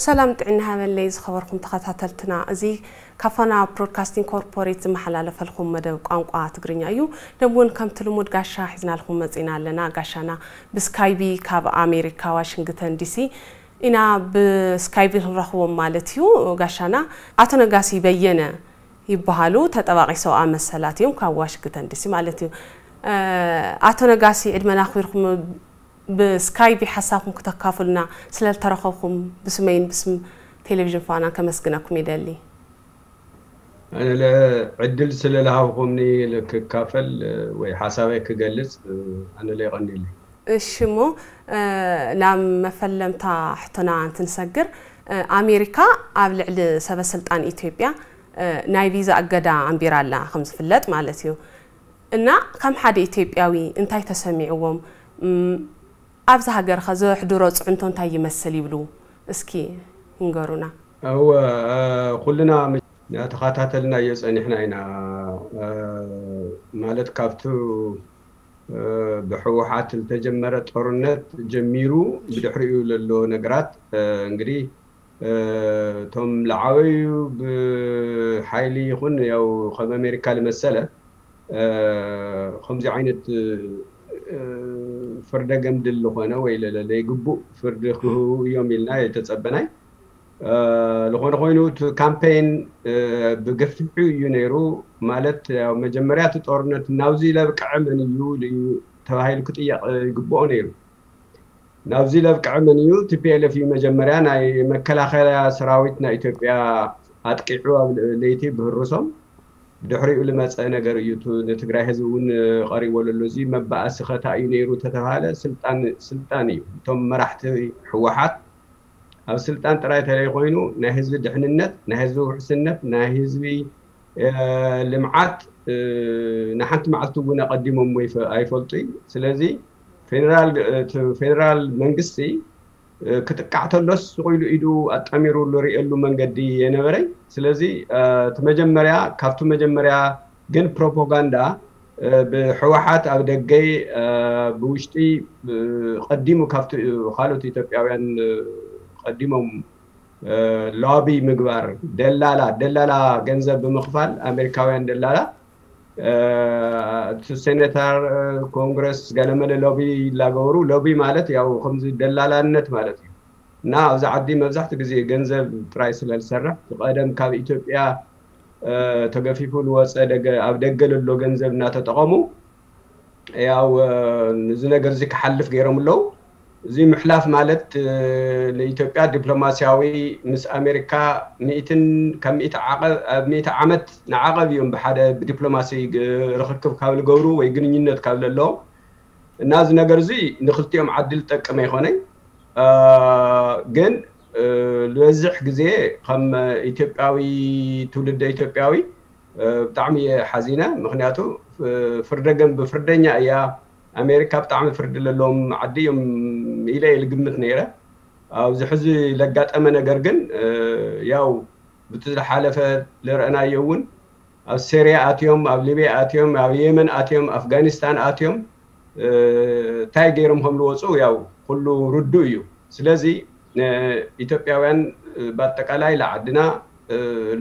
ሰላም ጥዕና ሃበለይ ዝኸበርኩም ተኸታተልትና፣ እዚ ካብ ፋና ብሮድካስቲንግ ኮርፖሬት ዝመሓላለፈልኩም መደብ ቋንቋ ትግርኛ እዩ። ደም እውን ከምቲ ልሙድ ጋሻ ሒዝናልኩም መጺና ኣለና። ጋሻና ብስካይቢ ካብ ኣሜሪካ ዋሽንግተን ዲሲ ኢና ብስካይቢ ክንረኽቦም ማለት እዩ። ጋሻና ኣቶ ነጋሲ በየነ ይበሃሉ፣ ተጠባቒ ሰብኣ መሰላት እዮም ካብ ዋሽንግተን ዲሲ ማለት እዩ። ኣቶ ነጋሲ ዕድመና ኣኽቢርኩም ብስካይቢ ሓሳብኩም ክተካፍሉና ስለልተረኸብኩም ብስመይን ብስም ቴሌቪዥን ፋናን ከመስግነኩም ይደሊ። ኣነለ ዕድል ስለልሃብኩምኒ ክካፈል ወይ ሓሳበይ ክገልጽ ኣነለ ይቐንየለይ። እሺ እሞ ናብ መፈለምታ ሕቶና እንትንሰግር፣ ኣሜሪካ ኣብ ልዕሊ ሰበስልጣን ኢትዮጵያ ናይ ቪዛ እገዳ ኣንቢራ ኣላ ከም ዝፍለጥ ማለት እዩ። እና ከም ሓደ ኢትዮጵያዊ እንታይ ተሰሚዕዎም? ኣብዚ ሃገር ኸ ዘሕድሮ ፅዕንቶ እንታይ ይመስል ይብሉ? እስኪ ይንገሩና። እወ ኩልና ተኸታተልናዮ ፀኒሕና ኢና። ማለት ካብቲ ብሕወሓት ዝተጀመረ ጦርነት ጀሚሩ ብድሕሪኡ ለሎ ነገራት እንግዲህ እቶም ለዓበዩ ብሓይሊ ይኹን ያው ከም ኣሜሪካ ልመሰለ ከምዚ ዓይነት ፍርደ ገምድል ዝኾነ ወይ ለይግቡእ ፍርዲ ክህቡ እዮም ኢልና የተጸበናይ። ዝኾነ ኮይኑ እቲ ካምፔን ብገፊሑ እዩ ነይሩ። ማለት ያው መጀመርያ እቲ ጦርነት ናብዚ ለብቅዐ መን እዩ ተባሂሉ ክጥየቕ ይግብኦ ነይሩ። ናብዚ ለብቅዐ መን እዩ? ቲ ፒ ኤል ኤፍ እዩ መጀመርያ ናይ መከላኸያ ሰራዊት ናይ ኢትዮጵያ ኣጥቂዑ ኣብ ለይቲ ብህርሶም ብድሕሪኡ ልመፀ ነገር እዩ። ንትግራይ ህዝቢ እውን ቀሪቦ ለሎ። እዚ መባእሲ ኸታ እዩ ነይሩ ተተባሃለ ስልጣን ስልጣን እዩ። እቶም መራሕቲ ህወሓት ኣብ ስልጣን ጥራይ ተለይ ኮይኑ ናይ ህዝቢ ድሕንነት፣ ናይ ህዝቢ ውሕስነት፣ ናይ ህዝቢ ልምዓት ንሓንቲ መዓልቲ እውን ኣቐዲሞም ኣይፈልጡ እዩ። ስለዚ ፌደራል መንግስቲ ክጥቃዕ ተሎስ ስቕ ኢሉ ኢዱ ኣጣሚሩ ዝሪእየሉ መንገዲ የነበረይ። ስለዚ እቲ መጀመርያ ካብቲ መጀመርያ ግን ፕሮፓጋንዳ ብሕወሓት ኣብ ደገይ ብውሽጢ ቀዲሙ ካብቲ ካልኦት ኢትዮጵያውያን ቀዲሞም ሎቢ ምግባር ደላላ ደላላ ገንዘብ ብምኽፋል ኣሜሪካውያን ደላላ እቲ ሴኔተር ኮንግረስ ገለመለ ሎቢ ይላገበሩ። ሎቢ ማለት ያው ከምዚ ደላላነት ማለት እዩ። እና ኣብዚ ዓዲ መብዛሕትኡ ግዜ ገንዘብ ጥራይ ስለ ዝሰርሕ እቲ ቀደም ካብ ኢትዮጵያ ተገፊፉ ዝወፀ ኣብ ደገ ለሎ ገንዘብ እናተጠቐሙ ያው እዚ ነገር እዚ ክሓልፍ ገይሮም ኣለዉ። እዚ ምሕላፍ ማለት ንኢትዮጵያ ዲፕሎማሲያዊ ምስ ኣሜሪካ ሚእትን ካብ ሚእቲ ዓቐብ ኣብ ሚእቲ ዓመት ንዓቐብ እዮም ብሓደ ብዲፕሎማሲ ርኽክብ ካብ ዝገብሩ ወይ ግንኙነት ካብ ዘለዎም እና እዚ ነገር እዚ ንክልቲኦም ዓዲ ዝጠቅም ኣይኮነይ። ግን ዝበዝሕ ግዜ ከም ኢትዮጵያዊ ትውልደ ኢትዮጵያዊ ብጣዕሚ እየ ሓዚነ። ምክንያቱ ፍርደ ገንብ ፍርደኛ እያ ኣሜሪካ ብጣዕሚ ፍርዲ ለለዎም ዓዲ እዮም ኢለ እየ ልግምት ነይረ። ኣብዚ ሕዚ ለጋጠመ ነገር ግን ያው ብቲ ዝሓለፈ ልረእናዮ እውን ኣብ ሴርያ ኣትዮም፣ ኣብ ሊብያ ኣትዮም፣ ኣብ የመን ኣትዮም፣ ኣፍጋኒስታን ኣትዮም እንታይ ገይሮም ከም ዝወፁ ያው ኩሉ ርዱእ እዩ። ስለዚ ኢትዮጵያውያን ብኣጠቃላይ ለዓድና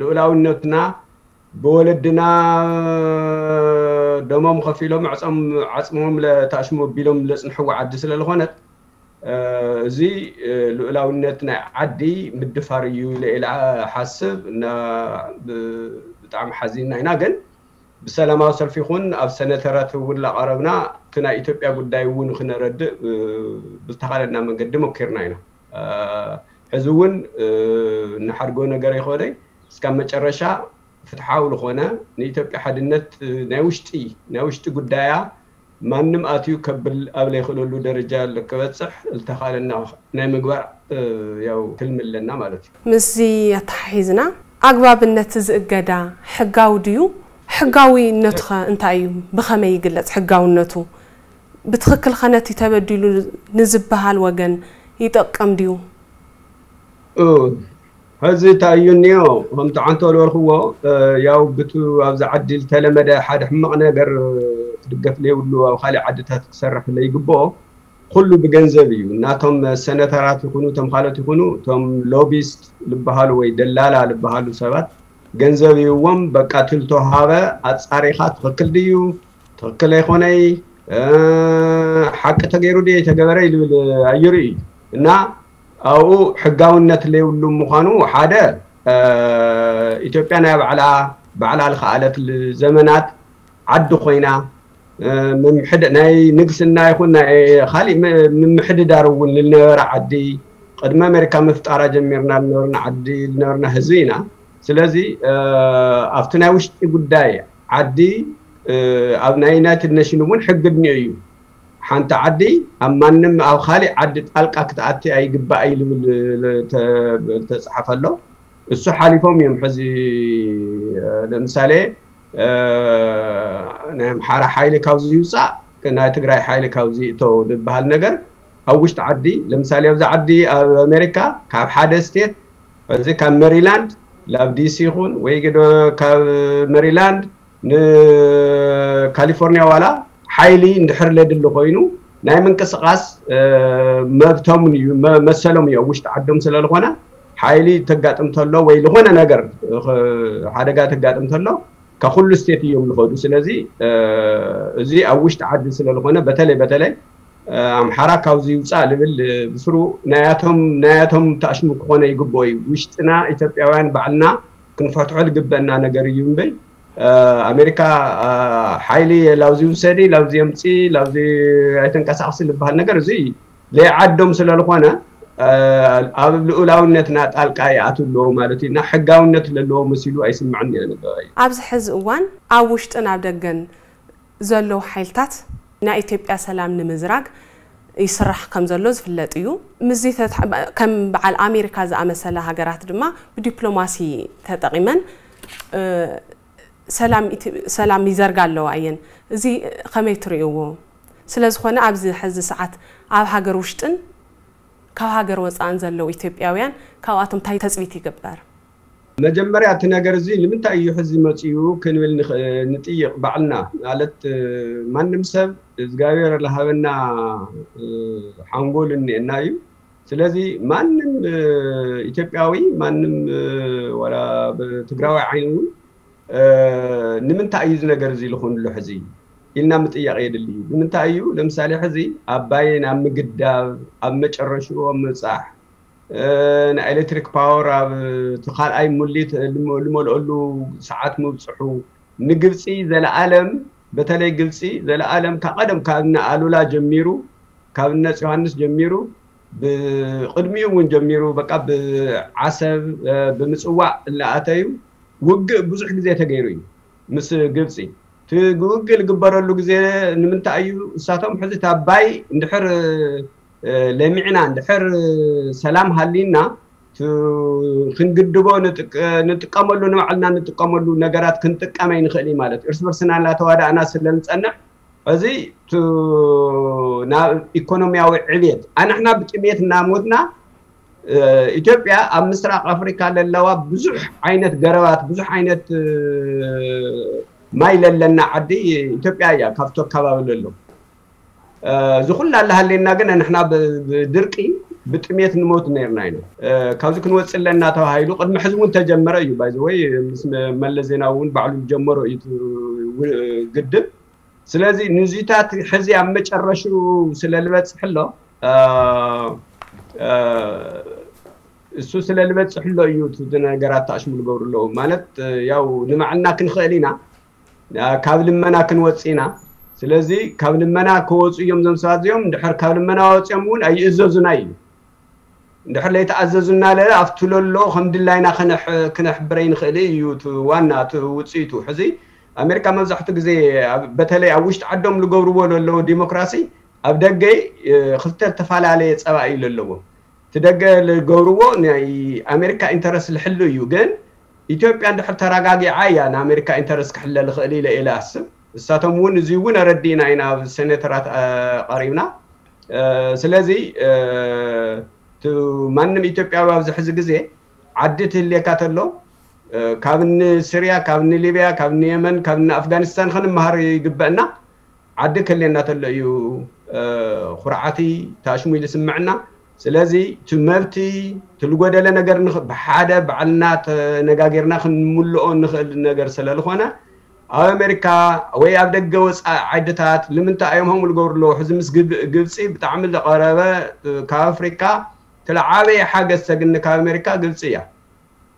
ልኡላውነትና ብወለድና ደሞም ከፊሎም ዕፀም ዓፅሞም ለታሽሙ ኣቢሎም ለፅንሕዎ ዓዲ ስለ ዝኾነት እዚ ልኡላውነት ናይ ዓዲ ምድፋር እዩ ኢለ ኢለ ሓስብ እና ብጣዕሚ ሓዚንና ኢና። ግን ብሰላማዊ ሰልፊ ይኹን ኣብ ሰነተራት እውን ላቐረብና እቲ ናይ ኢትዮጵያ ጉዳይ እውን ክነረድእ ብዝተኻለና መንገዲ ሞኪርና ኢና። ሕዚ እውን ንሓድጎ ነገር ይኾነይ እስካብ መጨረሻ ፍትሓዊ ዝኾነ ንኢትዮጵያ ሓድነት ናይ ውሽጢ ናይ ውሽጢ ጉዳያ ማንም ኣትዩ ከብል ኣብ ለይኽእለሉ ደረጃ ክበፅሕ ዝተኻለና ናይ ምግባር ያው ትልሚ ኣለና ማለት እዩ። ምስዚ ኣተሓሒዝና ኣግባብነት እዚ እገዳ ሕጋዊ ድዩ? ሕጋዊነቱ ኸ እንታይ እዩ? ብኸመይ ይግለፅ ሕጋውነቱ? ብትኽክል ኸ ነቲ ተበዲሉ ንዝበሃል ወገን ይጠቅም ድዩ? ሕዚ እንታይ እዩ እኒኦ ከምቲ ዓንቶ ዝበልክዎ ያው ብቱ ኣብዚ ዓዲ ዝተለመደ ሓደ ሕማቕ ነገር ክድገፍ ለይብሉ ኣብ ካሊእ ዓድታት ክሰርሕ ለይግብኦ ኩሉ ብገንዘብ እዩ። እናቶም ሰነተራት ይኹኑ፣ እቶም ካልኦት ይኹኑ፣ እቶም ሎቢስት ዝበሃሉ ወይ ደላላ ዝበሃሉ ሰባት ገንዘብ ይዎም፣ በቃ ትልቶ ሃበ፣ ኣጻሪኻ ትኽክል ድዩ፣ ትኽክል ኣይኾነይ፣ እ፣ ሓቂ ተገይሩ ድዩ ኣይተገበረ ይልብል ኣይርኢ እዩ። እና ኣብኡ ሕጋውነት ለይብሉ ምዃኑ ሓደ፣ እ፣ ኢትዮጵያ ናይ ባዕላ፣ ባዕላ ልኸኣለት ዘመናት ዓዲ ኮይና፣ እ፣ ምምሕድ-፣ ናይ ንግስና ይኹን ናይ ካሊእ ም-፣ ምምሕድዳር እውን ልነበረ ዓዲ፣ ቅድሚ ኣሜሪካ ምፍጣራ ጀሚርና ልነበርና ዓዲ፣ ልነበርና ህዝቢ ኢና። ስለዚ፣ እ፣ ኣብቲ ናይ ውሽጢ ጉዳይ ዓዲ፣ እ፣ ኣብ ናይ ዩናይትድ ኔሽን እውን ሕጊ እኒኦ እዩ። ሓንቲ ዓዲ ኣብ ማንም ኣብ ካሊእ ዓዲ ጣልቃ ክትኣቲ ኣይግባእ እዩ ልብል ተ-፣ ተጻሓፈ ኣሎ። እሱ ሓሊፎም እዮም። ሕዚ፣ እ፣ ለምሳሌ፣ እ፣ ናይ ኣምሓራ ሓይሊ ካብዚ ይውጻእ፣ ናይ ትግራይ ሓይሊ ካብዚ ይእቶ ዝበሃል ነገር ኣብ ውሽጢ ዓዲ፣ ለምሳሌ ኣብዚ ዓዲ ኣብ ኣሜሪካ ካብ ሓደ ስቴት፣ እዚ ካብ ሜሪላንድ ላብ ዲሲ ይኹን ወይ ግዶ ካብ ሜሪላንድ ንካሊፎርኒያ ዋላ ሓይሊ እንድሕር ለድሊ ኮይኑ ናይ ምንቅስቃስ፣ እ፣ መብቶም እዩ፣ መ-፣ መሰሎም እዩ። ኣብ ውሽጢ ዓዶም ስለ ዝኾነ ሓይሊ ተጋጥም ተሎ ወይ ዝኾነ ነገር፣ እ፣ ሓደጋ ተጋጥም ተሎ ካብ ኩሉ ስቴት እዮም ዝኸዱ። ስለዚ፣ እ፣ እዚ ኣብ ውሽጢ ዓዲ ስለ ዝኾነ በተለይ፣ በተለይ፣ እ፣ ኣምሓራ ካብዚ ይውፃእ ልብል፣ እ፣ ብስሩ ናያቶም፣ ናያቶም ተኣሽሙ ክኾነ ይግብኦ እዩ። ውሽጥና ኢትዮጵያውያን ባዕልና ክንፈትሖ ዝግበአና ነገር እዩ እምበይ፣ እ፣ ኣሜሪካ፣ እ፣ ሓይሊ ላብዚ ውሰዲ፣ ላብዚ የምፂ፣ ላብዚ ኣይተንቀሳቕሲ ዝበሃል ነገር እዚ ለይዓዶም ስለ ዝኾነ፣ እ፣ ኣብ ልኡላውነትና ጣልቃ ይኣትው ኣለዎ ማለት እዩ እና ሕጋውነት ለለዎ መሲሉ ኣይስምዕን እየ ንበይ። ኣብዚ ሕዚ እዋን ኣብ ውሽጥን ኣብ ደገን ዘለዉ ሓይልታት ናይ ኢትዮጵያ ሰላም ንምዝራግ ይስራሕ ከም ዘሎ ዝፍለጥ እዩ። ምስዚ ተትሓ-፣ ከም በዓል ኣሜሪካ ዝኣመሰላ ሃገራት ድማ ብዲፕሎማሲ ተጠቒመን፣ እ፣ ሰላም ኢትዮ-፣ ሰላም ይዘርጋ ኣለዋ እየን። እዚ ከመይ ትርእይዎ? ስለ ዝኾነ ኣብዚ ሕዚ ሰዓት ኣብ ሃገር ውሽጥን ካብ ሃገር ወጻእን ዘለዉ ኢትዮጵያውያን ካብኣቶም እንታይ ተጽቢት ይግበር? መጀመርያ እቲ ነገር እዚ ንምንታይ እዩ ሕዚ መጺኡ ክንብል ንኽ-፣ ንጥይቕ ባዕልና። ማለት፣ እ፣ ማንም ሰብ እግዚኣብሔር ለሃበና፣ እ፣ ሓንጎል እኒኤና እዩ። ስለዚ ማንም፣ እ፣ ኢትዮጵያዊ፣ ማንም፣ እ፣ ዋላ ብትግራዋይ ዓይኒ እውን፣ እ፣ ንምንታይ እዩ እዚ ነገር እዚ ልኾንሉ ሕዚ ኢልና ምጥያቕ የድሊ እዩ። ንምንታይ እዩ? ለምሳሌ ሕዚ ኣባይ ናብ ምግዳብ፣ ኣብ መጨረሽኡ ኣብ ምብጻሕ፣ እ፣ ናይ ኤሌክትሪክ ፓወር ኣብ እቲ ካልኣይ ሙሊት ልመ-፣ ልመልኦሉ ሰዓት ምብጽሑ፣ ንግብጺ ዘለኣለም፣ በተለይ ግብጺ ዘለኣለም ካብ ቀደም ካብ እነ ኣሉላ ጀሚሩ፣ ካብ እነ ዮሃንስ ጀሚሩ፣ ብቅድሚኡ እውን ጀሚሩ፣ በቃ ብዓሰብ፣ እ፣ ብምጽዋዕ እናኣተዩ ውግእ ብዙሕ ግዜ ተገይሩ እዩ ምስ ግብጺ። እቲ ውግእ ዝግበረሉ ግዜ ንምንታይ እዩ? እሳቶም ሕዚ እቲ ኣባይ እንድሕር፣ እ፣ ለሚዕና፣ እንድሕር ሰላም ሃሊና፣ ቱ-፣ ክንግድቦ ንጥቀ-፣ ንጥቀመሉ፣ ንባዕልና ንጥቀመሉ ነገራት ክንጥቀም ኣይንኽእል እዩ ማለት እዩ። እርስ በርስና እናተዋዳእና ስለ ንጸንሕ፣ እዚ ቱ-፣ ናብ ኢኮኖሚያዊ ዕብየት፣ ኣንሕና ብጥሜት እናሞትና፣ እ፣ ኢትዮጵያ ኣብ ምስራቅ ኣፍሪካ ለለዋ ብዙሕ ዓይነት ገረባት፣ ብዙሕ ዓይነት፣ እ፣ ማይ ለለና ዓዲ ኢትዮጵያ እያ፣ ካብቲ ኣከባቢ ለሎ። እ፣ እዚ ኩላ እናሃለየና ግን ንሕና ብ-፣ ብድርቂ፣ ብጥሜት ንሞት ነይርና ኢና። እ፣ ካብዚ ክንወፅእ ኣለና ተባሂሉ ቅድሚ ሕዚ እውን ተጀመረ እዩ። ባይ ዘ ወይ ምስ መ-፣ መለስ ዜናዊ እውን ባዕሉ ዝጀመሮ እዩ እቲ ው-፣ ግድብ። ስለዚ ንዚታት ሕዚ ኣብ መጨረሽኡ ስለ ዝበፅሕ ኣሎ፣ እ፣ እ፣ እሱ ስለ ዝበፅሕ ኣሎ እዩ እቲ ነገራት ተኣሽሙ ዝገብሩ ኣለዉ። ማለት፣ እ፣ ያው ንባዕልና ክንኽእል ኢና፣ እ፣ ካብ ልመና ክንወፅእ ኢና። ስለዚ ካብ ልመና ክወፁ እዮም እዞም ሰባት እዚኦም። እንድሕር ካብ ልመና ወፂኦም እውን ኣይእዘዙና እዩ። እንድሕር ለይተኣዘዙና ለለ ኣብቲ ለሎ ከም ድላይና ክነሕ-፣ ክነሕብረ ይንኽእል እዩ። እቲ ዋና እቲ ውፅኢቱ ሕዚ ኣሜሪካ መብዛሕትኡ ግዜ ኣብ-፣ በተለይ ኣብ ውሽጢ ዓዶም ዝገብርዎ ለለዎ ዲሞክራሲ ኣብ ደገ፣ እ፣ ክልተ ዝተፈላለየ ፀባኢ እዩ ለለዎ። እቲ ደገ ዝገብርዎ ናይ ኣሜሪካ ኢንተረስት ዝሕሉ እዩ። ግን ኢትዮጵያ እንድሕር ተረጋጊዓ እያ ንኣሜሪካ ኢንተረስት ክሕለ ዝኽእል ኢለ፣ ኢለ ኣስብ። እሳቶም እውን እዚ እውን ኣረዲእና ኢና ኣብ ሴኔተራት፣ እ፣ ቀሪብና። እ፣ ስለዚ፣ እ፣ እቲ ማንም ኢትዮጵያዊ ኣብዚ ሕዚ ግዜ ዓዲ ትህልየካ ተሎ፣ እ፣ ካብ እኒ ስርያ፣ ካብ እኒ ሊብያ፣ ካብ እኒ የመን፣ ካብ እኒ ኣፍጋኒስታን ክንመሃር ይግበአና። ዓዲ ከልየና ተሎ እዩ ኩርዓቲ ታሽሙ ኢሉ ስምዕና። ስለዚ እቲ መብቲ፣ እቲ ዝጎደለ ነገር ብሓደ ባዕልና ተነጋጊርና ክንምልኦ ንኽእል ነገር ስለዝኾነ፣ ኣብ ኣሜሪካ ወይ ኣብ ደገ ወፃኢ ዓድታት ንምንታይ እዮም ከምኡ ዝገብሩ ኣለዉ? ሕዚ ምስ ግብፂ ብጣዕሚ ዝቐረበ ካብ ኣፍሪካ ትለዓበየ ሓገዝ ተግኒ ካብ ኣሜሪካ ግብፂ እያ።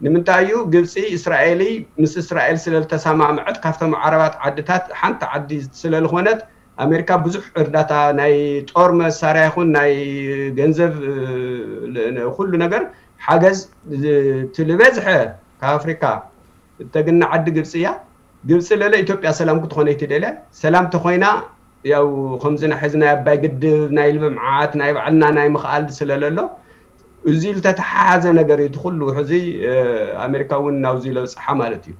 ንምንታይ እዩ ግብፂ እስራኤሊ ምስ እስራኤል ስለዝተሰማምዐት ካብቶም ዓረባት ዓድታት ሓንቲ ዓዲ ስለዝኾነት ኣሜሪካ ብዙሕ እርዳታ ናይ ጦር መሳርያ ይኹን ናይ ገንዘብ ኩሉ ነገር ሓገዝ ትልበዝሐ ካብ ኣፍሪካ እተግኒ ዓዲ ግብፂ እያ። ግብፂ ለለ ኢትዮጵያ ሰላም ክትኾነ ይትደልያ። ሰላም ተኾይና ያው ከምዚ ናይ ሕዚ ናይ ኣባይ ግድብ ናይ ልምዓት ናይ ባዕልና ናይ ምኽኣል ስለለሎ እዚ ዝተተሓሓዘ ነገር እዩ። እቲ ኩሉ ሕዚ ኣሜሪካ እውን ናብዚ ለብፅሓ ማለት እዩ።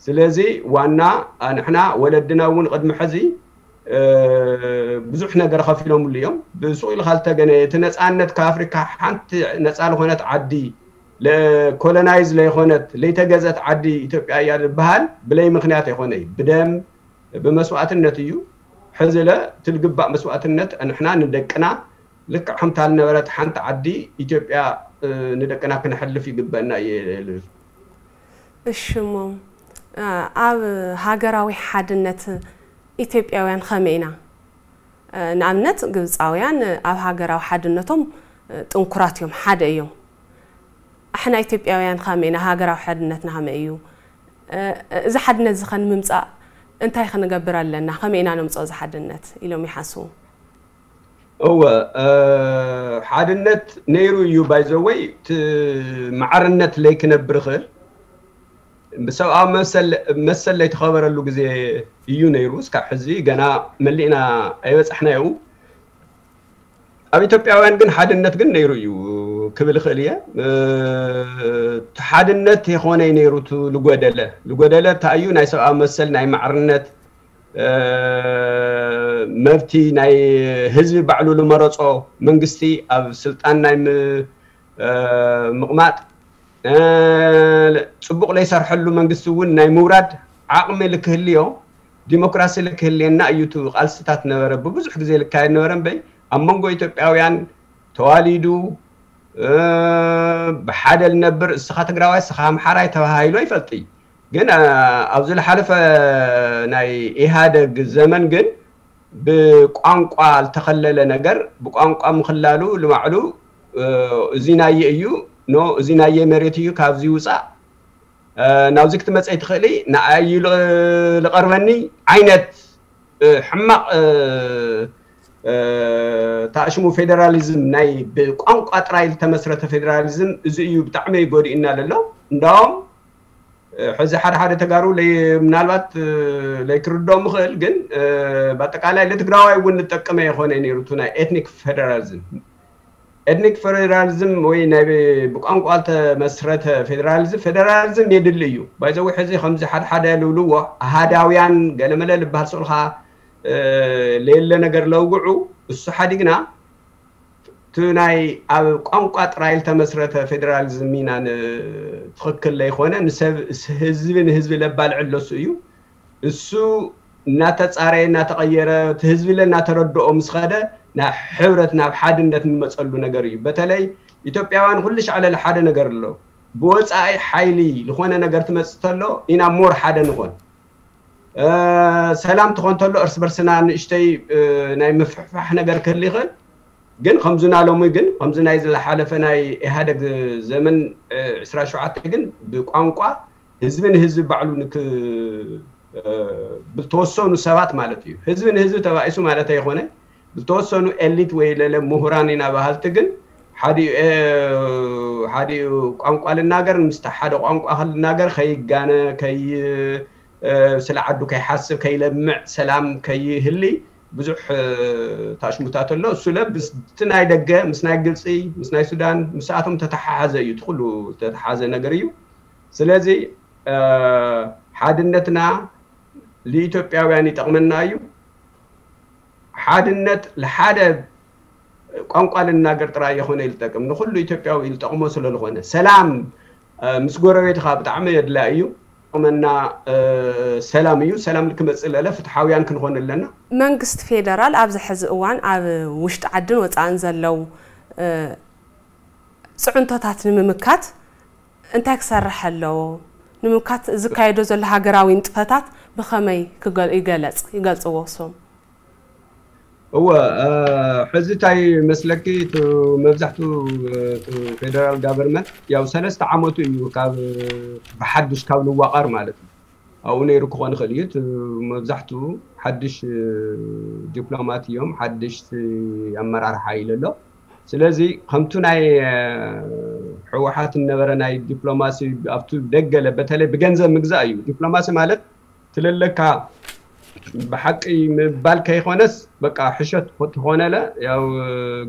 ስለዚ ዋና ንሕና ወለድና እውን ቅድሚ ሕዚ ብዙሕ ነገር ከፊሎምሉ እዮም። ብሱቕ ኢልካ ዝተገነ እቲ ነፃነት ካብ ኣፍሪካ ሓንቲ ነፃ ዝኾነት ዓዲ ኮሎናይዝ ለይኮነት ለይተገዘት ዓዲ ኢትዮጵያ እያ ዝበሃል ብለይ ምክንያት ኣይኮነይ ብደም ብመስዋእትነት እዩ። ሕዚ ለ ትልግባእ መስዋእትነት ንሕና ንደቅና ልክዕ ከምታ ዝነበረት ሓንቲ ዓዲ ኢትዮጵያ ንደቅና ክነሕልፍ ይግበአና እየ ልብል። እሺ እሞ ኣብ ሃገራዊ ሓድነት ኢትዮጵያውያን ከመይ ኢና? ንኣብነት ግብፃውያን ኣብ ሃገራዊ ሓድነቶም ጥንኩራት እዮም፣ ሓደ እዮም። ኣሕና ኢትዮጵያውያን ከመይ ኢና? ሃገራዊ ሓድነትና ከመይ እዩ? እዚ ሓድነት እዚ ከ ንምምፃእ እንታይ ክንገብር ኣለና? ከመይ ኢና ነምፅኦ እዚ ሓድነት ኢሎም ይሓስቡ? እወ ሓድነት ነይሩ እዩ። ባይዘወይ ማዕርነት ለይክነብር ይኽእል ብሰብኣዊ መሰል ለይተኸበረሉ ግዜ እዩ ነይሩ። እስካብ ሕዚ ገና መሊእና ኣይበፃሕናዮ። ኣብ ኢትዮጵያውያን ግን ሓድነት ግን ነይሩ እዩ ክብል ይኽእል እየ። እቲ ሓድነት የኾነይ ነይሩ እቲ ልጎደለ ልጎደለ እንታይ እዩ? ናይ ሰብኣዊ መሰል ናይ ማዕርነት መብቲ ናይ ህዝቢ ባዕሉ ልመረፆ መንግስቲ ኣብ ስልጣን ናይ ምቕማጥ ፅቡቕ ለይሰርሐሉ መንግስቲ እውን ናይ ምውራድ ዓቕሚ ልክህልዮ ዲሞክራሲ ልክህልየና እዩ እቲ ቃልስታት ነበረ ብብዙሕ ግዜ ልካየድ ነበረ እምበይ ኣብ መንጎ ኢትዮጵያውያን ተዋሊዱ ብሓደ ልነብር እስኻ ትግራዋይ እስኻ ኣምሓራይ ተባሃሂሉ ኣይፈልጥ እዩ። ግን ኣብዚ ዝሓለፈ ናይ ኢህኣደግ ዘመን ግን ብቋንቋ ዝተኸለለ ነገር ብቋንቋ ምኽላሉ ልባዕሉ እዚ ናየ እዩ ኖ እዚ ናየ መሬት እዩ ካብዚ ውፃእ ናብዚ ክትመፀ ትኽእሊ ንዓይ እዩ ልቐርበኒ ዓይነት ሕማቕ ታእሽሙ ፌደራሊዝም ናይ ብቋንቋ ጥራይ ዝተመስረተ ፌደራሊዝም እዚ እዩ ብጣዕሚ ጎዲእና ለሎ እንዳውም ሕዚ ሓደ ሓደ ተጋሩ ምናልባት ለይክርድኦም ምኽእል ግን ብኣጠቃላይ ለትግራዋይ እውን ልጠቀመ የኾነ ነይሩ እቲ ናይ ኤትኒክ ፌደራሊዝም ኤትኒክ ፌደራሊዝም ወይ ናይ ብቋንቋ ዝተመስረተ ፌደራሊዝም ፌደራሊዝም የድሊ እዩ ባይዘዊ ሕዚ ከምዚ ሓደ ሓደ ልብልዎ ኣሃዳውያን ገለመለ ልበሃል ስልካ ለየለ ነገር ለውግዑ እሱ ሓዲግና እቲ ናይ ኣብ ቋንቋ ጥራይ ዝተመስረተ ፌደራሊዝም ኢና ትኽክል ለይኮነ ንሰብ ህዝቢ ንህዝቢ ለባልዕ ለሱ እዩ እሱ እናተፃረየ እናተቐየረ እቲ ህዝቢ ለ እናተረድኦ ምስ ኸደ ናብ ሕብረት ናብ ሓድነት ንመፀሉ ነገር እዩ በተለይ ኢትዮጵያውያን ኩሉ ሻዕለለ ሓደ ነገር ኣሎ ብወፃኢ ሓይሊ ዝኾነ ነገር ትመፅእ ተሎ ኢና ሞር ሓደ ንኾን ሰላም ትኾን ተሎ እርስ በርስና ንእሽተይ ናይ ምፍሕፋሕ ነገር ክህል ይኽእል ግን ከምዚ ናሎሚ ግን ከምዚ ናይ ዝሓለፈ ናይ ኢህደግ ዘመን ዕስራ ሸውዓተ ግን ብቋንቋ ህዝቢ ንህዝቢ ባዕሉ ንክ ብልተወሰኑ ሰባት ማለት እዩ ህዝቢ ንህዝቢ ተባኢሱ ማለት ኣይኮነ ብልተወሰኑ ኤሊት ወይ ለለ ምሁራን ኢና በሃልቲ ግን ሓዲኡ ሓዲኡ ቋንቋ ልናገር ምስቲ ሓደ ቋንቋ ክልናገር ከይጋነ ከይ ስለ ዓዱ ከይሓስብ ከይለምዕ ሰላም ከይህሊ ብዙሕ ታሽሙታት ኣሎ እሱ ለ ምስቲ ናይ ደገ ምስ ናይ ግብፂ ምስ ናይ ሱዳን ምስኣቶም ተተሓሓዘ እዩ ትኩሉ ተተሓዘ ነገር እዩ ስለዚ ሓድነትና ንኢትዮጵያውያን ይጠቕመና እዩ ሓድነት ለሓደ ቋንቋ ልናገር ጥራይ የኾነ ይልጠቅም ንኩሉ ኢትዮጵያዊ ይልጠቅሞ ስለዝኾነ ሰላም ምስ ጎረቤትኻ ብጣዕሚ የድላ እዩ መና ሰላም እዩ። ሰላም ልክመፅእ ለለ ፍትሓውያን ክንኾን ኣለና። መንግስቲ ፌደራል ኣብዚ ሕዚ እዋን ኣብ ውሽጢ ዓድን ወፃእን ዘለው ፅዕንቶታት ንምምካት እንታይ ክሰርሕ ኣለዎ? ንምምካት ዝካየዶ ዘሎ ሃገራዊ ንጥፈታት ብኸመይ ይገልጽ ይገልጽዎ እሶም? እወ፣ ሕዚ እንታይ መስለኪ፣ እቲ መብዛሕቱ እቲ ፌደራል ጋቨርመንት ያው ሰለስተ ዓመቱ እዩ ካብ ብሓዱሽ ካብ ልዋቐር ማለት እዩ። ኣብኡ ነይሩ ክኾን ይኽእል እዩ። እቲ መብዛሕቱ ሓድሽ ዲፕሎማት እዮም፣ ሓድሽ ኣመራርሓ ኢሉ ኣሎ። ስለዚ ከምቱ ናይ ህወሓት እነበረ ናይ ዲፕሎማሲ ኣብቱ ደገለ በተለይ ብገንዘብ ምግዛእ እዩ። ዲፕሎማሲ ማለት ትልለካ ብሓቂ ምባል ከይኮነስ በቃ ሕሸት ትኾነለ ያው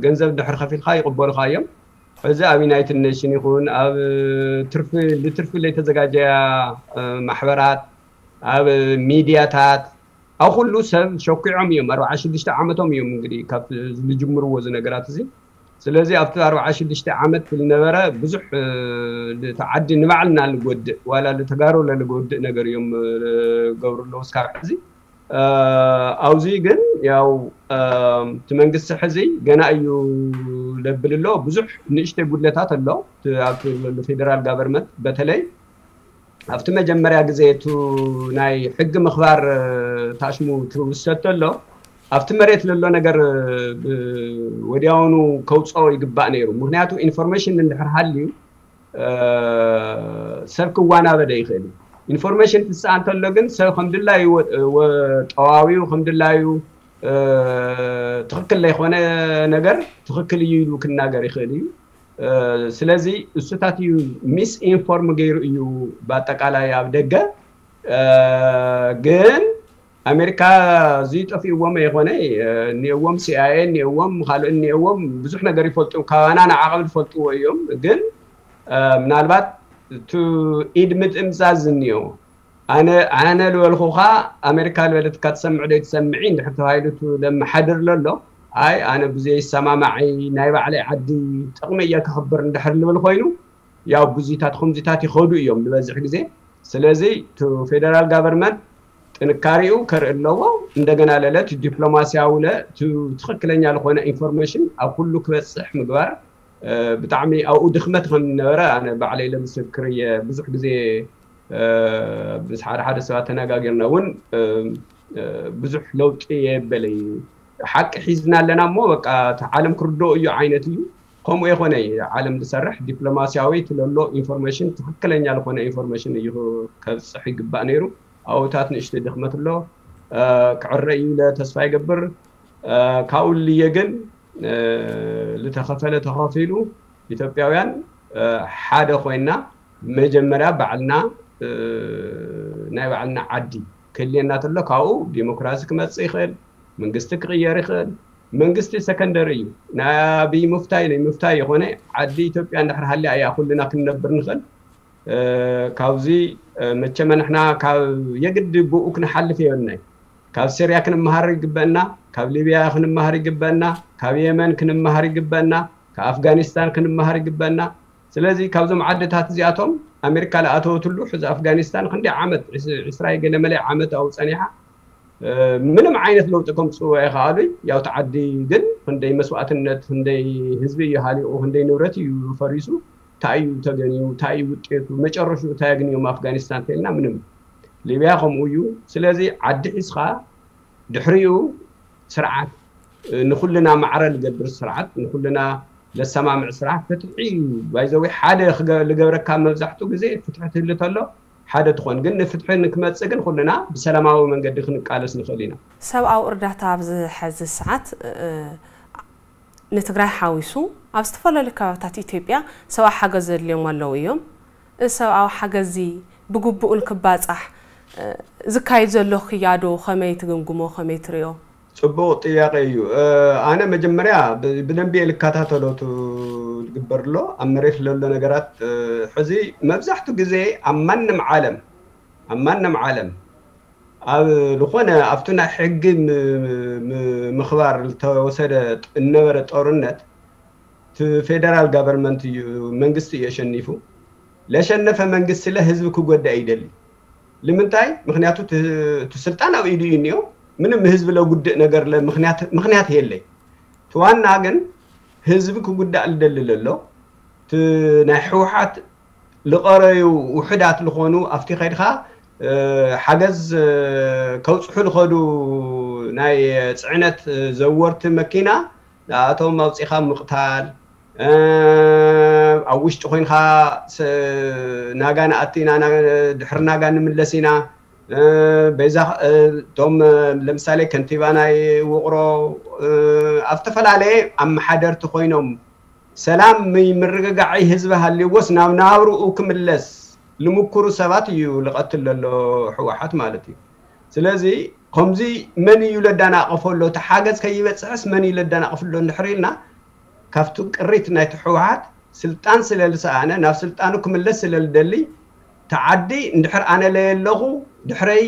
ገንዘብ ድሕር ከፊልካ ይቕበሉካ እዮም። እዚ ኣብ ዩናይትድ ኔሽን ይኹን ኣብ ትርፊ ልትርፊ ለይተዘጋጀያ ማሕበራት ኣብ ሚድያታት ኣብ ኩሉ ሰብ ሸኪዖም እዮም። ኣርባዓ ሽዱሽተ ዓመቶም እዮም እንግዲህ ካብ ዝጅምርዎ እዚ ነገራት እዚ። ስለዚ ኣብቲ ኣርባዓ ሽዱሽተ ዓመት ዝነበረ ብዙሕ እቲ ዓዲ ንባዕልና ልጎድእ ዋላ ልተጋሩ ለልጎድእ ነገር እዮም ገብሩ ኣለዉ እስካብ ሕዚ። ኣብዚ ግን ያው እቲ መንግስቲ ሕዚ ገና እዩ ለብል ኣሎ። ብዙሕ ንእሽተይ ጉድለታት ኣሎ። ኣብቲ ፌደራል ጋቨርመንት በተለይ ኣብቲ መጀመርያ ግዜ እቲ ናይ ሕጊ ምኽባር ታሽሙ ትውሰድ ተሎ ኣብቲ መሬት ለሎ ነገር ወዲያውኑ ከውፅኦ ይግባእ ነይሩ። ምክንያቱ ኢንፎርሜሽን እንድሕር ሃልዩ ሰብ ክዋናበደ ይኽእል እዩ። ኢንፎርሜሽን ትስኣ እንተሎ ግን ሰብ ከም ድላዩ ጠዋዊው ከም ድላዩ ትኽክል ዘይኮነ ነገር ትኽክል እዩ ኢሉ ክናገር ይኽእል እዩ። ስለዚ እሱታት እዩ ሚስ ኢንፎርም ገይሩ እዩ ብኣጠቃላይ ኣብ ደገ። ግን ኣሜሪካ እዚ ጠፊእዎም ኣይኮነ እኒእዎም፣ ሲኣይኤ እኒእዎም፣ ካልእ እኒእዎም ብዙሕ ነገር ይፈልጡ፣ ካባና ንዓቐብ ዝፈልጥዎ እዮም። ግን ምናልባት እቲ ኢድ ምጥምዛዝ እኒኦ ኣነ ኣነ ልበልኩኻ ኣሜሪካ ልበለትካ ትሰምዕ ዶ ትሰምዒ እንድሕር ተባሂሉ ለመሓድር ለሎ ኣይ ኣነ ብዘይ ይሰማማዒ ናይ ባዕለይ ዓዲ ጥቕሚ እየ ክኽብር እንድሕር ልብል ኮይኑ ያው ብዙታት ከምዚታት ይኸዱ እዮም ዝበዝሕ ግዜ። ስለዚ እቲ ፌደራል ጋቨርመንት ጥንካሬኡ ከርኢ ኣለዎ። እንደገና ለለ እቲ ዲፕሎማሲያዊ ለ እቲ ትኽክለኛ ዝኾነ ኢንፎርሜሽን ኣብ ኩሉ ክበፅሕ ምግባር ብጣዕሚ ኣብኡ ድኽመት ከም ዝነበረ ኣነ ባዕለይ ለምስክር እየ። ብዙሕ ግዜ ምስ ሓደ ሓደ ሰባት ተነጋጊርና እውን ብዙሕ ለውጢ የበለይ ሓቂ ሒዝና ኣለና እሞ በቃ እቲ ዓለም ክርድኦ እዩ ዓይነት እዩ። ከምኡ የኮነ ዓለም ዝሰርሕ ዲፕሎማሲያዊ ትለሎ ኢንፎርሜሽን ትክክለኛ ዝኾነ ኢንፎርሜሽን እዩ ከብፅሕ ይግባእ ነይሩ። ኣብታት ንእሽተይ ድኽመት ኣሎ ክዕረ እዩ ኢለ ተስፋ ይገብር። ካብኡ ልየ ግን ዝተኸፈለ ተኸፊሉ ኢትዮጵያውያን ሓደ ኮይና መጀመርያ ባዕልና ናይ ባዕልና ዓዲ ክህልየና ተሎ ካብኡ ዲሞክራሲ ክመፅእ ይኽእል፣ መንግስቲ ክቕየር ይኽእል። መንግስቲ ሰከንደሪ እዩ። ናይ ኣብይ ምፍታይ ናይ ምፍታይ የኾነ ዓዲ ኢትዮጵያ እንድሕር ሃልያ እያ ኩልና ክንነብር ንኽእል። ካብዚ መቸመ ንሕና ካብ የግዲ ብኡ ክንሓልፍ የብልናይ። ካብ ሲርያ ክንመሃር ይግበአና፣ ካብ ሊብያ ክንመሃር ይግበአና፣ ካብ የመን ክንመሃር ይግበአና፣ ካብ ኣፍጋኒስታን ክንመሃር ይግበአና። ስለዚ ካብዞም ዓድታት እዚኣቶም ኣሜሪካ ለኣተወትሉ ሕዚ ኣፍጋኒስታን ክንደይ ዓመት ዕስራ ገለ መለ ዓመት ኣብኡ ፀኒሓ ምንም ዓይነት ለውጢ ከምፅኡ ኣይከኣሉይ። ያው ተዓዲ ግን ክንደይ መስዋእትነት ክንደይ ህዝቢ እዩ ሃሊቑ ክንደይ ንብረት እዩ ፈሪሱ እንታይ እዩ ተገንዩ እንታይ እዩ ውጤቱ መጨረሹ እንታይ ኣግንዮም ኣፍጋኒስታን ተልና ምንም። ሊብያ ከምኡ እዩ። ስለዚ ዓዲ ሒዝካ ድሕሪኡ ስርዓት ንኩልና ማዕረ ልገብር ስርዓት ንኩልና ለሰማምዕ ስርዓት ፍትሒ እዩ። ባይዘዊ ሓደ ልገብረካ መብዛሕትኡ ግዜ ፍትሒ ትህሊ ተሎ ሓደ ትኾን ግን ንፍትሒ ንክመፅእ ግን ኩልና ብሰላማዊ መንገዲ ክንቃለስ ንኽእል ኢና። ሰብኣዊ እርዳታ ኣብዚ ሕዚ ሰዓት ንትግራይ ሓዊሱ ኣብ ዝተፈላለዩ ከባብታት ኢትዮጵያ ሰብኣዊ ሓገዝ ዘድልዮም ኣለዉ እዮም። እዚ ሰብኣዊ ሓገዝ እዚ ብግቡእ ንክባፃሕ ዝካየድ ዘሎ ክያዶ ከመይ ትግምግሞ ከመይ ትሪኦ? ፅቡቕ ጥያቄ እዩ። ኣነ መጀመርያ ብደንቢ እየ ልከታተሎ ዝግበር ኣሎ ኣብ መሬት ለሎ ነገራት ሕዚ መብዛሕትኡ ግዜ ኣብ ማንም ዓለም ኣብ ማንም ዓለም ኣብ ዝኾነ ኣብቲ ናይ ሕጊ ምኽባር ዝተወሰደ እነበረ ጦርነት እቲ ፌደራል ጋቨርመንት እዩ መንግስቲ እዩ ኣሸኒፉ። ለሸነፈ መንግስቲ ለ ህዝቢ ክጎድእ ኣይደሊ። ንምንታይ? ምክንያቱ እቲ ስልጣን ኣብ ኢዱ እዩ እኒኦ። ምንም ህዝቢ ለጉድእ ነገር ምክንያት የለይ። እቲ ዋና ግን ህዝቢ ክጉዳእ ልደሊ ለሎ እቲ ናይ ህወሓት ልቐረዩ ውሕዳት ልኾኑ ኣብቲ ከድካ ሓገዝ ከውፅሑ ልኸዱ ናይ ፅዕነት ዘወርቲ መኪና ንኣቶም ኣውፂኻ ምቕታል፣ ኣብ ውሽጢ ኮይንካ ናጋ ንኣቲና ድሕሪ ናጋ ንምለስ ኢና። በዛ እቶም ለምሳሌ ከንቲባ ናይ ውቕሮ ኣብ ዝተፈላለየ ኣመሓደርቲ ኮይኖም ሰላም ምርግጋዓይ ህዝቢ ሃልይዎስ ናብ ናብርኡ ክምለስ ልምኩሩ ሰባት እዩ ልቐትል ዘሎ ህወሓት ማለት እዩ። ስለዚ ከምዚ መን እዩ ለዳናቐፎ ኣሎ? እቲ ሓገዝ ከይበፅሕስ መን እዩ ለዳናቐፍ ኣሎ እንድሕር ኢልና ካብቲ ቅሪት ናይቲ ህወሓት ስልጣን ስለ ልሰኣነ ናብ ስልጣኑ ክምለስ ስለ ልደሊ ተዓዲ እንድሕር ኣነ ለየለኹ ድሕረይ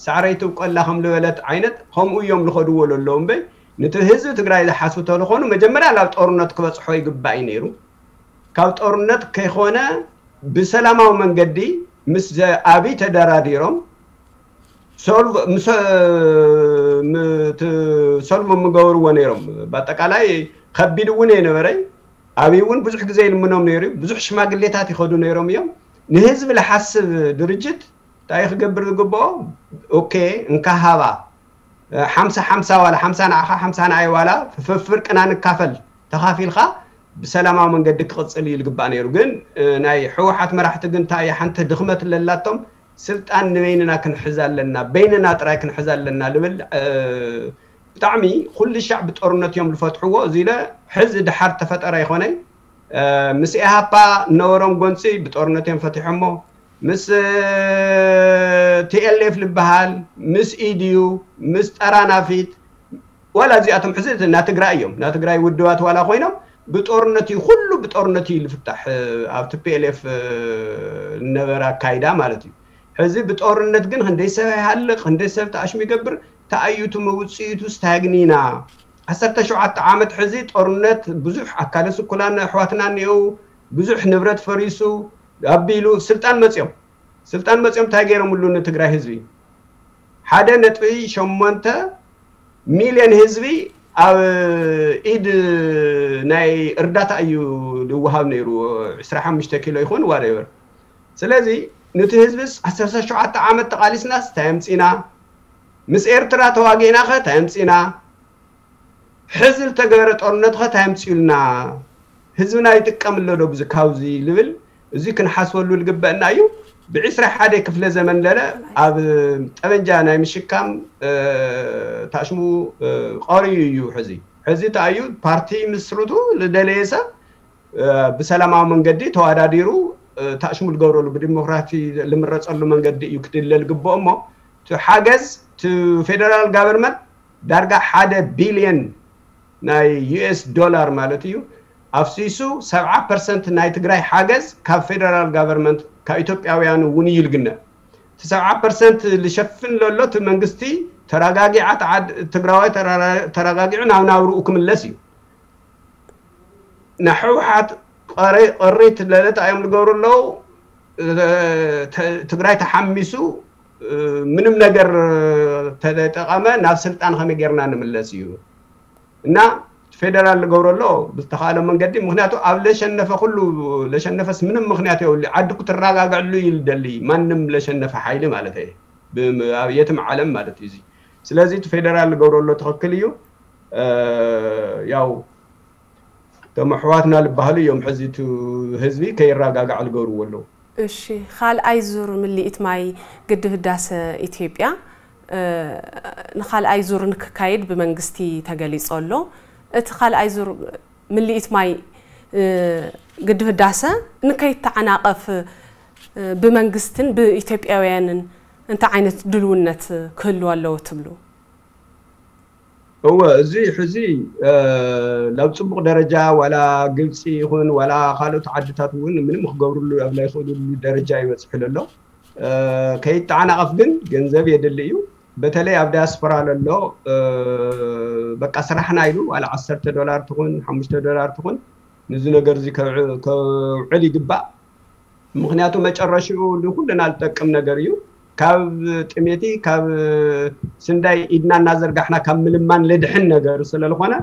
ሳዕረይ ትብቆላ ከም ዝበለት ዓይነት ከምኡ እዮም ዝኸድዎ ዘለዉ እምበይ፣ ነቲ ህዝቢ ትግራይ ዝሓስቡ ተልኾኑ መጀመርያ ናብ ጦርነት ክበፅሖ ይግባእ እዩ ነይሩ። ካብ ጦርነት ከይኾነ ብሰላማዊ መንገዲ ምስ ኣቢ ተደራዲሮም ሶልቭ ምገበርዎ ነይሮም። ብኣጠቃላይ ከቢድ እውን የነበረይ። ኣቢ እውን ብዙሕ ግዜ ይልምኖም ነይሩ። ብዙሕ ሽማግሌታት ይኸዱ ነይሮም እዮም። ንህዝቢ ዝሓስብ ድርጅት እንታይ ክገብር ዝግብኦ? ኦኬ፣ እንካ ሃባ ሓምሳ ሓምሳ ዋላ ሓምሳ ንዓኻ ሓምሳ ንዓይ ዋላ ፍፍርቅና ንካፈል ተኻፊልካ ብሰላማዊ መንገዲ ክቕፅል እዩ ዝግባእ ነይሩ። ግን ናይ ህወሓት መራሕቲ ግን እንታይ ሓንቲ ድኽመት ለላቶም ስልጣን ንበይንና ክንሕዝ ኣለና፣ በይንና ጥራይ ክንሕዝ ኣለና ልብል ብጣዕሚ ኩሉ ሻዕ ብጦርነት እዮም ዝፈትሕዎ። እዚ ኢለ ሕዚ ድሓር ተፈጠረ ይኾነይ ምስ ኢሃፓ ነበሮም ጎንፂ ብጦርነት እዮም ፈቲሖሞ። ምስ ቲኤልኤፍ ዝበሃል ምስ ኢድዩ ምስ ጠራናፊት ዋላ እዚኣቶም ሕዚ ናትግራይ እዮም ናትግራይ ውድባት ዋላ ኮይኖም ብጦርነት እዩ ኩሉ ብጦርነት እዩ ልፍታሕ። ኣብ ቲፒኤልኤፍ ነበረ ኣካይዳ ማለት እዩ። ሕዚ ብጦርነት ግን ክንደይ ሰብ ይሃልቕ ክንደይ ሰብ ተኣሽሙ ይገብር ተኣዩቱ መውፅኢቱ ስታግኒና ዓሰርተ ሸውዓተ ዓመት ሕዚ ጦርነት ብዙሕ ኣካለ ስኩላን ኣሕዋትና እኒአው ብዙሕ ንብረት ፈሪሱ ኣቢሉ ስልጣን መፅኦም ስልጣን መፅኦም እንታይ ገይሮምሉ ንትግራይ ህዝቢ ሓደ ነጥቢ ሸሞንተ ሚልዮን ህዝቢ ኣብ ኢድ ናይ እርዳታ እዩ ዝወሃብ ነይሩ ዕስራ ሓሙሽተ ኪሎ ይኹን ዋደበር ስለዚ ንቲ ህዝብስ ዓሰርተ ሸውዓተ ዓመት ተቓሊስናስ እንታይ ኣምፂና ምስ ኤርትራ ተዋጊእና ኸ እንታይ ኣምፂና ሕዚ ዝተገበረ ጦርነት ኸ እንታይ ኣምፅኡልና ህዝብና ይጥቀም ኣሎ ዶ ብዚ ካብዚ ልብል እዚ ክንሓስበሉ ልግበእና እዩ ብዕስራ ሓደ ክፍለ ዘመን ለለ ኣብ ጠበንጃ ናይ ምሽካም ታሽሙ ቀርዩ እዩ ሕዚ ሕዚ እንታይ እዩ ፓርቲ ምስርቱ ዝደለየ ሰብ ብሰላማዊ መንገዲ ተዋዳዲሩ ታሽሙ ዝገብረሉ ብዲሞክራሲ ዝምረፀሉ መንገዲ እዩ ክድለ ዝግበኦ እሞ ሓገዝ ፌደራል ጋቨርመንት ዳርጋ ሓደ ቢልዮን ናይ ዩኤስ ዶላር ማለት እዩ ኣፍሲሱ ሰብዓ ፐርሰንት ናይ ትግራይ ሓገዝ ካብ ፌደራል ጋቨርመንት ካብ ኢትዮጵያውያን እውን እዩ ልግነ እቲ ሰብዓ ፐርሰንት ልሸፍን ለሎ እቲ መንግስቲ ተረጋጊዓ ትግራዋይ ተረጋጊዑ ናብ ናብርኡ ክምለስ እዩ ንሕወሓት ቅሪት ለለታ እዮም ዝገብሩ ኣለዉ ትግራይ ተሓሚሱ ምንም ነገር ተጠቐመ ናብ ስልጣን ከመይ ጌርና ንምለስ እዩ እና ፌደራል ዝገብሮ ኣሎ ብዝተኻእለ መንገዲ ምክንያቱ ኣብ ለሸነፈ ኩሉ ለሸነፈስ ምንም ምክንያት የብሉ ዓዲ ክትረጋግዕሉ እዩ ልደሊ ማንም ለሸነፈ ሓይሊ ማለት እየ ኣብ የትም ዓለም ማለት እዩ ስለዚ እቲ ፌደራል ዝገብሮ ኣሎ ትኽክል እዩ ያው እቶም ኣሕዋትና ዝበሃሉ እዮም ሕዚ እቲ ህዝቢ ከይረጋጋዕ ዝገብርዎ ኣለዉ። እሺ፣ ካልኣይ ዙር ምልኢት ማይ ግድብ ህዳሰ ኢትዮጵያ ንካልኣይ ዙር ንክካየድ ብመንግስቲ ተገሊፁ ኣሎ። እቲ ካልኣይ ዙር ምልኢት ማይ ግድብ ህዳሰ ንከይተዓናቐፍ ብመንግስትን ብኢትዮጵያውያንን እንታይ ዓይነት ድልውነት ክህልዎ ኣለዎ ትብሉ? እወ እዚ ሕዚ ናብ ፅቡቕ ደረጃ ዋላ ግብፂ ይኹን ዋላ ካልኦት ዓድታት እውን ምንም ክገብርሉ ኣብ ናይ ክእልሉ ደረጃ ይበፅሑ ለሎ ከይተዓናቐፍ ግን ገንዘብ የድሊ እዩ በተለይ ኣብ ዳያስፖራ ለሎ በቃ ስራሕና ኢሉ ዋላ ዓሰርተ ዶላር ትኹን ሓሙሽተ ዶላር ትኹን ንዚ ነገር እዚ ከውዕል ይግባእ ምክንያቱ መጨረሽኡ ንኩልና ዝጠቅም ነገር እዩ ካብ ጥሜቲ ካብ ስንዳይ ኢድና እናዘርጋሕና ካብ ምልማን ልድሕን ነገር ስለዝኾነ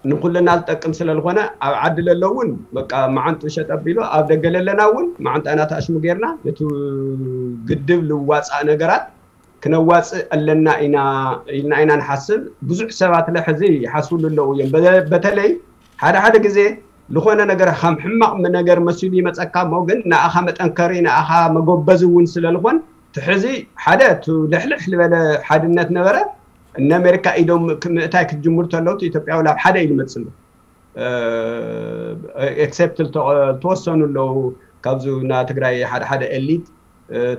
ንኩልና ዝጠቅም ስለዝኾነ ኣብ ዓዲ ለለውን በቃ መዓንጡ ሸጠ ቢሉ ኣብ ደገ ለለና እውን መዓንጣና ተኣሽሙ ጌርና ነቲ ግድብ ልዋፃእ ነገራት ክነዋፅእ ኣለና ኢና ኢልና ኢና ንሓስብ። ብዙሕ ሰባት ለሕዚ ይሓስብሉ ኣለዉ እዮም። በተለይ ሓደ ሓደ ግዜ ዝኾነ ነገር ከም ሕማቕ ነገር መሲሉ ይመፀካ እሞ ግን ንኣኻ መጠንከሪ ንኣኻ መጎበዚ እውን ስለዝኾን ትሕዚ ሓደ እቲ ልሕልሕ ዝበለ ሓድነት ነበረ። እነ ኣሜሪካ ኢዶም ምእታይ ክትጅምሩ ተለዉ ኢትዮጵያዊ ናብ ሓደ ኢሉ መፅሉ ኤክሴፕት ዝተወሰኑ ኣለዉ ካብዚ ና ትግራይ ሓደ ሓደ ኤሊት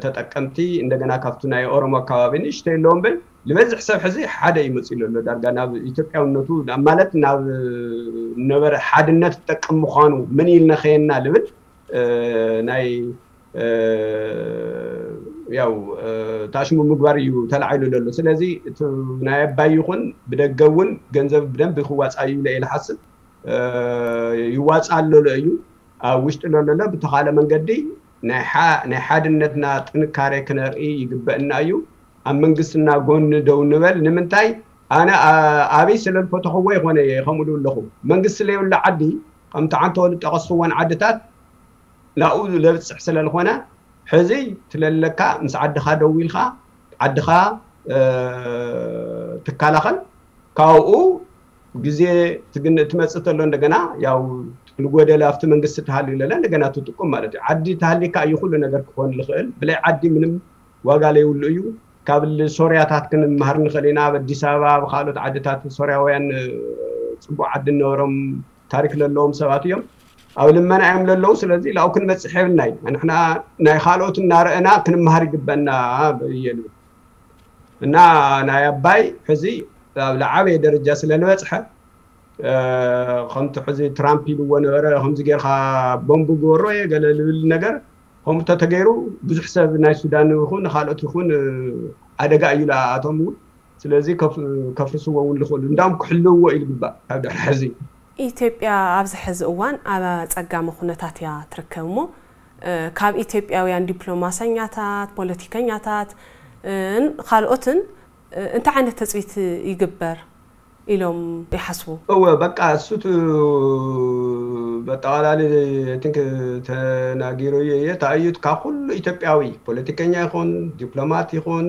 ተጠቀምቲ እንደገና ካብቲ ናይ ኦሮሞ ኣካባቢ ንእሽተይ ኣለዎም ብል ዝበዝሕ ሰብ ሕዚ ሓደ እዩ መፂሉ ኣሎ ዳርጋ ናብ ኢትዮጵያውነቱ ማለት ናብ ነበረ ሓድነት ዝጠቅም ምዃኑ ምን ኢል ነኸየና ልብል ናይ ያው ታሽሙ ምግባር እዩ ተላዒሉ ዘሎ። ስለዚ እቲ ናይ ኣባይ ይኹን ብደገ እውን ገንዘብ ብደንብ ክዋፃ እዩ ኢለ እየ ዝሓስብ። ይዋፃ ኣሎ እዩ ኣብ ውሽጢ ለለሎ ብተኻለ መንገዲ ናይ ሓድነትና ጥንካሬ ክነርኢ ይግበእና እዩ። ኣብ መንግስትና ጎኒ ደው ንበል። ንምንታይ ኣነ ኣብይ ስለ ዝፈተኽዎ ይኾነ እየ ከምኡ ኣለኹ። መንግስቲ ለየብሉ ዓዲ ከምቲ ዓንተ ወሉ ጠቐስኽወን ዓድታት ናብኡ ለብፅሕ ስለ ዝኾነ ሕዚ ትለለካ ምስ ዓድኻ ደው ኢልካ ዓድኻ ትከላኸል። ካብኡ ግዜ ትመፅእ ተሎ እንደገና ያው ልጎደል ኣብቲ መንግስቲ ተሃልዩ ለለ እንደገና ትጥቁም ማለት እዩ። ዓዲ ተሃሊካ እዩ ኩሉ ነገር ክኾን ዝኽእል። ብላይ ዓዲ ምንም ዋጋ ለይብሉ እዩ። ካብ ሶርያታት ክንመሃር ንኽእል ኢና። ኣብ ኣዲስ ኣበባ ኣብ ካልኦት ዓድታት ሶርያውያን ፅቡቅ ዓዲ ነበሮም ታሪክ ለለዎም ሰባት እዮም። ኣብ ልመና እዮም ለለዉ። ስለዚ ላው ክንበፅሕ የብልናይ። ንሕና ናይ ካልኦት እናረእና ክንመሃር ይግበና እየ ልብል እና ናይ ኣባይ ሕዚ ኣብ ለዓበየ ደረጃ ስለ ዝበፅሐ ከምቲ ሕዚ ትራምፕ ኢልዎ ነበረ ከምዚ ጌርካ ቦምቡ ግበሮ እየ ገለ ልብል ነገር ከምኡ ተተገይሩ ብዙሕ ሰብ ናይ ሱዳን ይኹን ካልኦት ይኹን ሓደጋ እዩ ለኣቶም እውን ስለዚ ከፍርስዎ እውን ልኽእሉ እንዳውም ክሕልውዎ እዩ ልግባእ ካብ ድሕሪ ሕዚ። ኢትዮጵያ ኣብዚ ሕዚ እዋን ኣብ ኣጸጋሚ ኩነታት እያ ትርከብ እሞ ካብ ኢትዮጵያውያን ዲፕሎማሰኛታት፣ ፖለቲከኛታት ን ካልኦትን እንታይ ዓይነት ተፅቢት ይግበር ኢሎም ይሓስቡ? እወ በቃ እሱ በጠቓላሊ ቲንክ ተናጊረዮ እየ። ተኣዩት ካብ ኩሉ ኢትዮጵያዊ ፖለቲከኛ ይኹን ዲፕሎማት ይኹን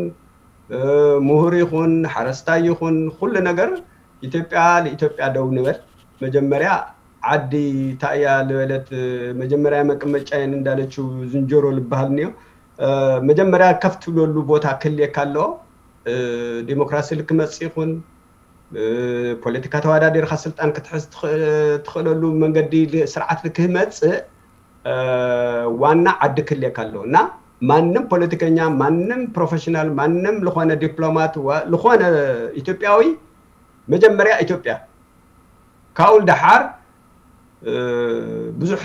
ምሁር ይኹን ሓረስታይ ይኹን ኩሉ ነገር ኢትዮጵያ ልኢትዮጵያ ደው ንበል። መጀመርያ ዓዲ ታእያ ልበለት መጀመርያ መቀመጫየን እንዳለችው ዝንጀሮ ልበሃል እኒኦ። መጀመርያ ከፍ ትብለሉ ቦታ ክልየካ ኣለዎ። ዲሞክራሲ ልክመፅ ይኹን ፖለቲካ ተወዳዲርካ ስልጣን ክትሕዝ ትኽእለሉ መንገዲ ስርዓት ልክህመፅእ ዋና ዓዲ ክልየካ ኣለዎ እና ማንም ፖለቲከኛ ማንም ፕሮፌሽናል ማንም ልኾነ ዲፕሎማት ልኾነ ኢትዮጵያዊ መጀመርያ ኢትዮጵያ ካብኡ ደሓር ብዙሕ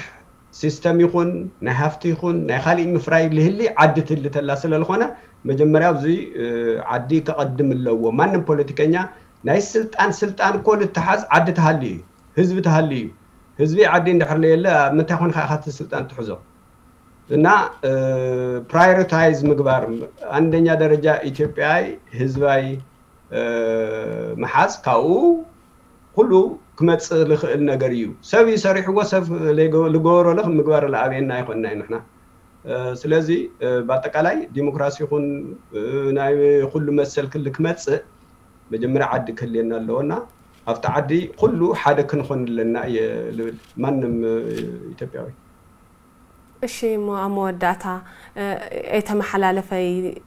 ሲስተም ይኹን ናይ ሃፍቲ ይኹን ናይ ካሊእ ምፍራይ ልህሊ ዓዲ ትህሊ ተላ ስለ ዝኾነ መጀመርያ ኣብዚ ዓዲ ከቐድም ኣለዎ። ማንም ፖለቲከኛ ናይ ስልጣን ስልጣን እኮ ልተሓዝ ዓዲ ተሃሊ እዩ፣ ህዝቢ ተሃሊ እዩ። ህዝቢ ዓዲ እንድሕር ለየለ ምንታይ ኮንካ ኢኻ እቲ ስልጣን ትሕዞ? እና ፕራዮሪታይዝ ምግባር አንደኛ ደረጃ ኢትዮጵያይ ህዝባይ ምሓዝ ካብኡ ኩሉ ክመፅእ ዝኽእል ነገር እዩ። ሰብ እዩ ሰሪሕዎ፣ ሰብ ልገበሮ ለ ምግባር ለኣበየና ኣይኮንና እዩ ንሕና። ስለዚ ብኣጠቃላይ ዲሞክራሲ ይኹን ናይ ኩሉ መሰል ክሊ ክመፅእ መጀመርያ ዓዲ ክህልየና ኣለዎ እና ኣብቲ ዓዲ ኩሉ ሓደ ክንኾን ኣለና እየ ልብል ማንም ኢትዮጵያዊ። እሺ እሞ ኣብ መወዳእታ ኤተመሓላለፈይ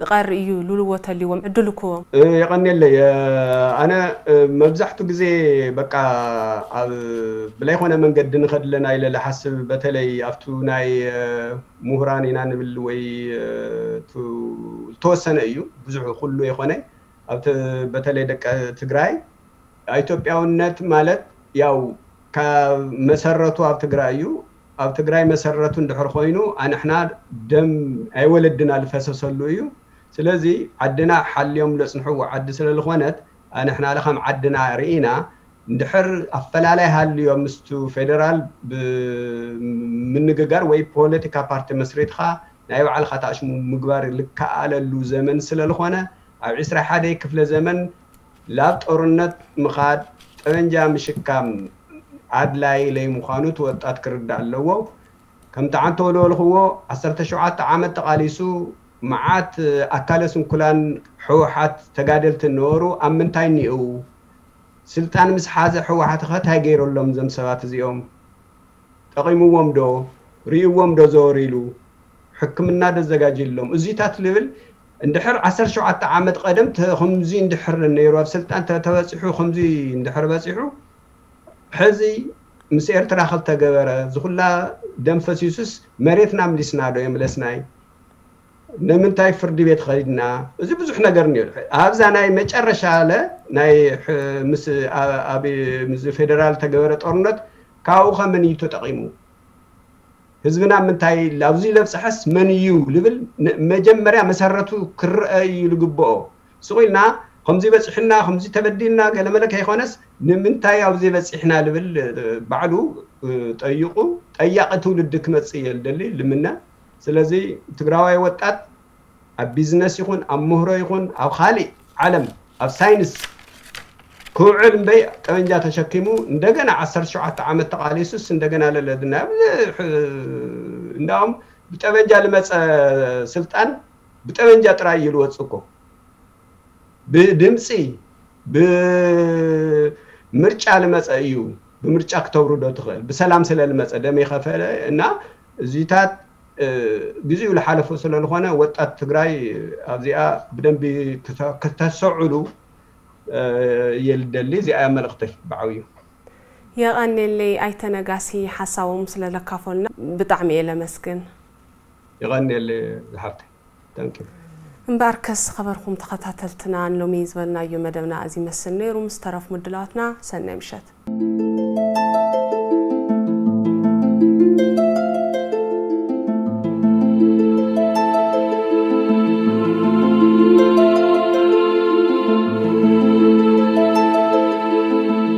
ቐር እዩ ሉልዎ ተልዎም ዕድል ክዎም። የቐኔለይ ኣነ መብዛሕቱ ግዜ በቃ ኣብ ብለይኮነ መንገዲ ንኸድለና ኢለ ልሓስብ በተለይ ኣብቱ ናይ ምሁራን ኢና ንብል ወይ ዝተወሰነ እዩ ብዙሕ ኩሉ የኾነ ኣብቲ በተለይ ደቂ ትግራይ ኢትዮጵያውነት ማለት ያው ካብ መሰረቱ ኣብ ትግራይ እዩ። ኣብ ትግራይ መሰረቱ እንድሕር ኮይኑ ኣንሕና ደም ኣይወለድና ዝፈሰሰሉ እዩ። ስለዚ ዓድና ሓልዮም ለፅንሕዎ ዓዲ ስለዝኾነት ኣንሕና ለካም ዓድና ርኢና እንድሕር ኣፈላላይ ሃልዮ ምስቱ ፌደራል ብምንግጋር ወይ ፖለቲካ ፓርቲ መስሪትካ ናይ ባዕልኻ ታሽሙ ምግባር ልከኣለሉ ዘመን ስለልኾነ ኣብ ዕስራ ሓደ ክፍለ ዘመን ላብ ጦርነት ምኻድ ጠበንጃ ምሽካም ኣድላይ ለይ ምዃኑ እቲ ወጣት ክርዳእ ኣለዎ። ከምቲ ዓንተ ወለወልኽዎ ዓሰርተ ሸውዓተ ዓመት ተቓሊሱ መዓት ኣካለ ስንኩላን ሕወሓት ተጋደልቲ ነበሩ። ኣብ ምንታይ እኒኡ? ስልጣን ምስ ሓዘ ሕወሓት ኸ እንታይ ገይረሎም እዞም ሰባት እዚኦም? ጠቒምዎም ዶ? ርእይዎም ዶ ዘወር ኢሉ? ሕክምና ዶ ኣዘጋጅሎም? እዚታት ልብል እንድሕር ዓሰርተ ሸውዓተ ዓመት ቀደም ተ- ከምዚ እንድሕር ነይሩ ኣብ ስልጣን ተ- ተበፂሑ ከምዚ እንድሕር በፂሑ ሕዚ ምስ ኤርትራ ከልተገበረ ዝኹላ ደም ፈሲሱስ መሬትና ምሊስና ዶ የምለስናይ? ንምንታይ ፍርዲ ቤት ኸድና? እዚ ብዙሕ ነገር እኒኦ። ኣብዛ ናይ መጨረሻ ለ ናይ ሕ- ምስ ኣ- ኣብ ምስ ፌደራል ተገበረ ጦርነት ካብኡ ከመን እዩ ተጠቒሙ? ህዝብና ምንታይ ኣብዚ ለብፅሐስ መን እዩ ልብል ን- መጀመርያ መሰረቱ ክረአ እዩ ልግብኦ። ስቕ ኢልና ከምዚ በፂሕና ከምዚ ተበዲልና ገለመለ ከይኮነስ ንምንታይ ኣብዚ በፂሕና ልብል ባዕሉ ጠይቑ ጠያቂ ትውልዲ ክመፅእ እየ ልደሊ ልምነ። ስለዚ ትግራዋይ ወጣት ኣብ ቢዝነስ ይኹን ኣብ ምህሮ ይኹን ኣብ ካሊእ ዓለም ኣብ ሳይንስ ክውዕል እምበይ ጠበንጃ ተሸኪሙ እንደገና ዓሰርተ ሸውዓተ ዓመት ተቓሊሱስ እንደገና ለለድና እንዳውም ብጠበንጃ ልመፀ ስልጣን ብጠበንጃ ጥራይ እዩ ልወፅእ እኮ። ብድምፂ ብምርጫ ልመፀ እዩ። ብምርጫ ክተውርዶ ትኽእል ብሰላም ስለ ልመፀ ደም የኸፈለ እና እዚታት ግዜኡ ልሓለፎ ስለ ዝኾነ ወጣት ትግራይ ኣብዚኣ ብደንቢ ክተሰዕሉ የልደሊ። እዚኣ መልእኽተይ ብዓብዩ። የቐኔለይ ኣይተነጋሲ ሓሳቦም ስለለካፈሉና ብጣዕሚ እየ ለመስግን። የቐኔለ ዝሓፍተይ። Thank you። እምበኣርከስ ዝኸበርኩም ተኸታተልትና ንሎሚ ዝበልናዮ መደብና እዚ መስል ነይሩ። ምስ ተረፍ ምድላዋትና ሰናይ ምሸት።